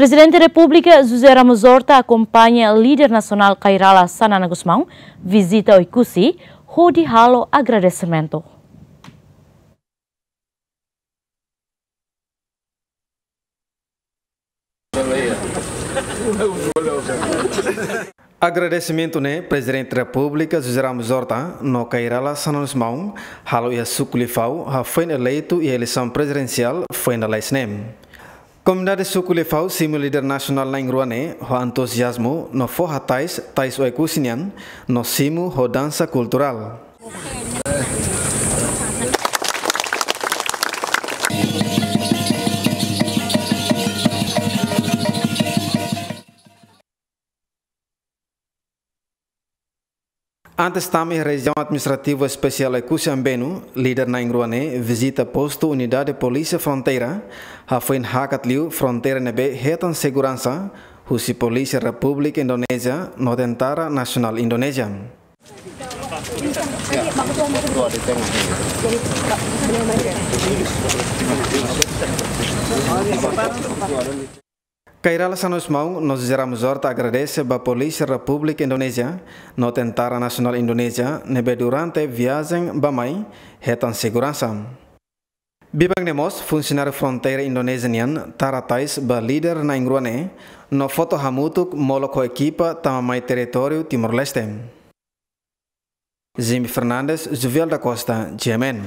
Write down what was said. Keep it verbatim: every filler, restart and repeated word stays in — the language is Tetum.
Prezidente Repúblika José Ramos Horta akompaña líder nasionál Kay Rala Xanana Gusmão vizita Oekusi, hodi halo agradesimentu. Agradesimentu ne'e Prezidente Repúblika José Ramos Horta no Kay Rala Xanana Gusmão halo iha suku Lifau, hafoin eleitu iha eleisaun prezidensiál foin lalais ne'e. Komunidade suku Lifau simu líder nasionál na'in-rua ne'e ho entuziazmu no fó hatais tais Oekusi nian no simu ho dansa kulturál. Antes tama iha Rejiaun Administrativa Espesiál Oekusi Ambenu, líder na'in-rua ne'e vizita postu Unidade Polísia Fronteira, hafoin hakat liu fronteira ne'ebé hetan seguransa husi Polísia Repúblika Indonézia no Tentara Nasionál Indonézia. Kay Rala Xanana Gusmão no José Ramos Horta agradese ba Polísia Repúblika Indonézia no Tentara Nasionál Indonézia ne'ebé durante viajen bá-mai hetan seguransa. Biban ne'e mós funsionáriu fronteira Indonézia nian tara tais ba líder na'in-rua ne'e no foto hamutuk molok ho ekipa tama mai territóriu Timor-Leste. Jimmy Fernandes, Juvial da Costa, G M N.